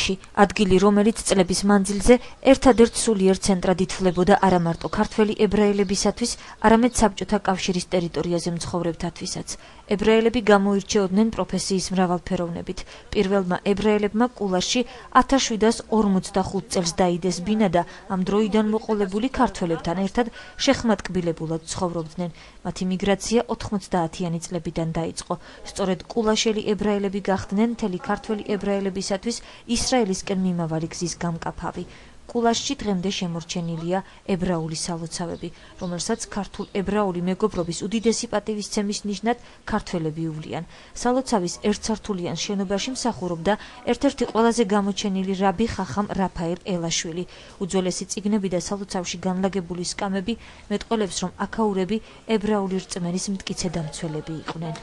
კულაში, ადგილი, რომელიც წლების მანძილზე ერთადერთ სულიერ ცენტრად ითვლებოდა არა მარტო ქართველი ებრაელებისათვის, არამედ საბჭოთა კავშირის ტერიტორიაზე მცხოვრებთათვისაც. ებრაელები გამოირჩეოდნენ პროფესიის მრავალფეროვნებით. პირველმა ებრაელებმა კულაში 1745 წელს დაიდეს ბინა და ამ დროიდან მოყოლებული ქართველებთან ერთად შეხმატკბილებულად ცხოვრობდნენ. მათი მიგრაცია 90-იანი წლებიდან დაიწყო. სწორედ კულაშელი ებრაელები გახდნენ მთელი ქართველი ებრაელებისათვის ისრაელისკენ მიმავალი გზის გამკაფავი. კულაშში დღემდე შემორჩენილია ებრაული სალოცავები, რომელსაც ქართულ ებრაული მეგობრობის უდიდესი პატივისცემის ნიშნად ქართველები უვლიან. სალოცავის ერთსართულიან შენობაში მსახურობდა ერთ-ერთი ყველაზე გამოჩენილი რაბი ხახამ რაფაელ ელაშვილი. უძველესი წიგნები და სალოცავში განლაგებული სკამები მეტყველებს, რომ აქაურები ებრაული რწმენის მტკიცე დამცველები იყვნენ.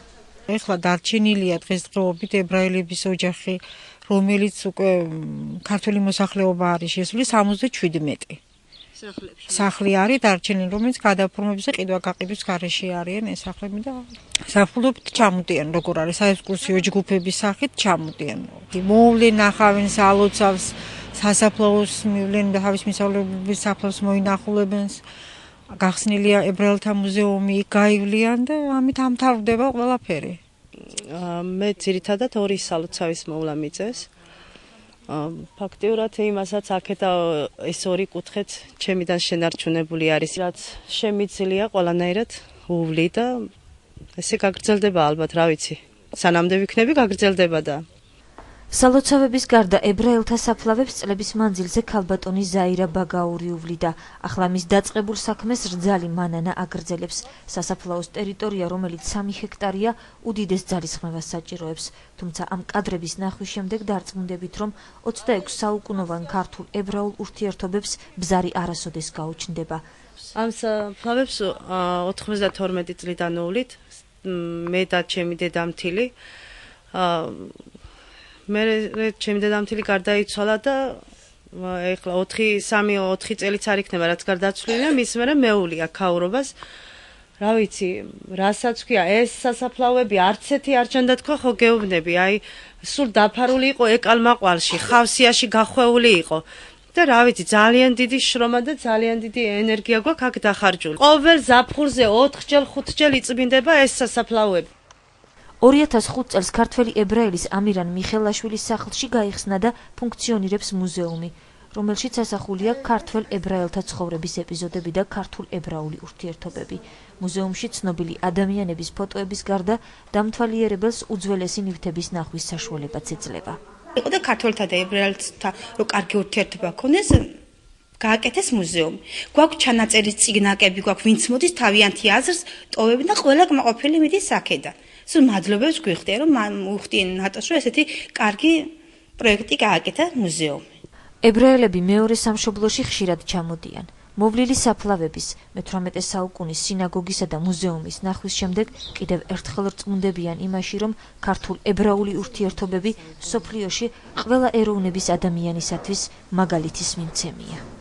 ეხლა დარჩენილია დღესდღეობით ებრაელების ოჯახი, რომელიც უკვე ქართული მოსახლეობა არის შესული 77 სახლი არის დარჩენილი, რომელიც გადაფორმების და ყიდვა-გაყიდვის გარეშე არიან ეს სახლები და საფულობით ჩამოდიან, როგორ არის საექსკურსიო ჯგუფების სახით ჩამოდიან. მოვლენ ახავენ სალოცავს, სასაფლაოს მივლენ და თავის მისავლების საფლავს მოინახულებენ. გახსნილია ებრაელთა მუზეუმი, გაივლიან და ამით ამთავრდება ყველაფერი. მე ძირითადად ორი სალოცავის მოვლა მიწევს. ფაქტიურად იმასაც აქეთა ეს ორი კუთხეც ჩემიდან შენარჩუნებული არის, რაც შემიძლია ყველანაირად უვლი და ესე გაგრძელდება ალბათ, რა ვიცი. სანამდე ვიქნები გაგრძელდება და სალოცავების გარდა ებრაელთა საფლავებს წლების მანძილზე ქალბატონი ზაირა ბაგაური უვლიდა. ახლა მის დაწყებულ საქმეს რძალი მანანა აგრძელებს. სასაფლაოს ტერიტორია, რომელიც 3 ჰექტარია, უდიდეს ძალისხმევას საჭიროებს. თუმცა ამ კადრების ნახვის შემდეგ დარწმუნდებით, რომ 26 საუკუნოვან ქართულ ებრაულ ურთიერთობებს ბზარი არასოდეს გაუჩნდება. ამ საფლავებს 92 წლიდან უვლით, მე და ჩემი დედამთილი. მე ჩემი დედამთილი გარდაიცვალა და ეხლა 3-4 წელიც არ იქნება რაც გარდაცვლილია, მის მერე მეული აქაურობას. რა ვიცი, რასაც ვქია, ეს სასაფლავები არც ერთი არ ჩანდა თქვა ხო გეუბნები, აი სულ დაფარული იყო ეკალმაყვალში, ხავსიაში გახვეული იყო. და რა ვიცი, ძალიან დიდი შრომა და ძალიან დიდი ენერგია გვაქვს აქ დახარჯული. ყოველ ზაფხულზე 4-ჯერ 5-ჯერ იწმინდება ეს სასაფლავები. 2005 წელს ქართველი ებრაელის ამირან მიხელაშვილის სახლში გაიხსნა და ფუნქციონირებს მუზეუმი, რომელშიც ასახულია ქართველ ებრაელთა ცხოვრების ეპიზოდები და ქართულ ებრაული ურთიერთობები. მუზეუმში ცნობილი ადამიანების ფოტოების გარდა დამთვალიერებელს უძველესი ნივთების ნახვის საშუალებაც ეძლევა. იყო და ქართველთა და ებრაელთა რო კარგი ურთიერთობა ქონდეს, გააკეთეს მუზეუმი. გვაქვს ჩანაწერი წიგნაკები, გვაქვს ვინც მოდის თავიანთი აზრს ტოვებენ და ყველა კმაყოფილი მიდის აქედან. სულ მადლობებს გვიხდიან, რომ უხდიან ნატოს, რომ ესეთი კარგი პროექტი გააკეთა მუზეუმი. ებრაელები მეორე სამშობლოში ხშირად ჩამოდიან. მოვლილი საფლავების, მე-18 საუკუნის სინაგოგისა და მუზეუმის ნახვის შემდეგ კიდევ ერთხელ რწმუნდებიან იმაში, რომ ქართულ ებრაული ურთიერთობები მსოფლიოში ყველა ეროვნების ადამიანისათვის მაგალითის მიმცემია.